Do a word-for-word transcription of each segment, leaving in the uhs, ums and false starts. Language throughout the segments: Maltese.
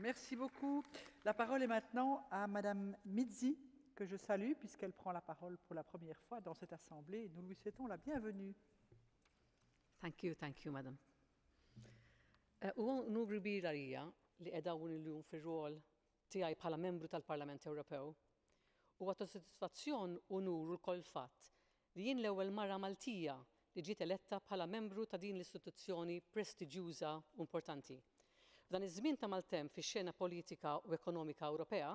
Merci beaucoup. La parole est maintenant à Madame Mizzi, que je salue puisqu'elle prend la parole pour la première fois dans cette assemblée. Nous lui souhaitons la bienvenue. Thank you, thank you, madam. Eh, u unur kbir għalija li qiegħda hawn illum fir-rol tiegħi bħala membru tal-Parlament Ewropew. U ta' sodisfazzjon u unur ukoll fatt li jien l-ewwel mara Maltija li ġiet eletta bħala membru ta' din l-istituzzjoni prestiġjuża u importanti. F'dan iż-żmien ta' maltemp fix-xena politika u ekonomika Ewropea,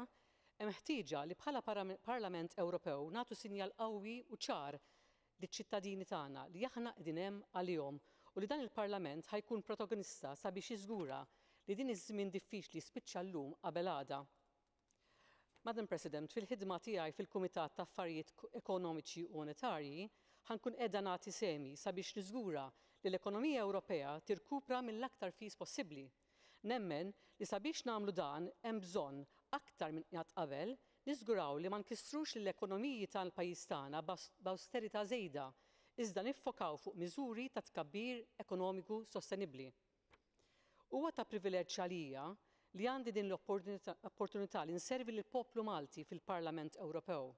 hemm ħtieġa li bħala Parlament Ewropew nagħtu sinjal qawwi u ċar liċ-ċittadini tagħna li aħna qegħdin hemm għalihom u li dan il-Parlament ħa jkun protagonista sabiex jiżgura li din iż-żmien diffiċli spiċċa llum qabel għada. Madam President, fil-ħidma tiegħi fil-Kumitat ta' Affarijiet Ekonomiċi u Monetarji ħa nkun qiegħda nagħti sehmi sabiex niżgura li l-ekonomija Ewropea tirkupra mill-aktar fis possibbli. Nemmen li sabiex nagħmlu dan hemm bżonn aktar minn qatt qabel niżguraw li ma nkissrux l-ekonomiji tal-pajjiż tagħna b'awsterità żejda, iżda niffokaw fuq miżuri ta' tkabbir ekonomiku sostenibbli. Huwa ta' privileġġ għalija li għandi din l-opportunità li nservi lill-poplu Malti fil-Parlament Ewropew.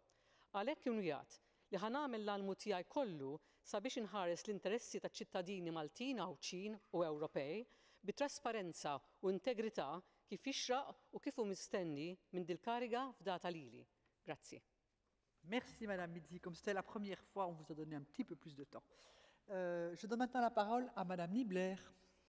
Għalhekk inwiegħed li ħa nagħmel l-almu tiegħi kollu sabiex inħares l-interessi taċ-ċittadini Maltin, Għawdxin u Ewropej bi trasparenza u integrità kif jixraq u kif hu mistenni minn dil-kariga fdata lili. Grazzi. Merci Madame Mizzi. Comme c'était la première fois, on vous a donné un petit peu plus de temps. Euh, je donne maintenant la parole à Madame Niebler.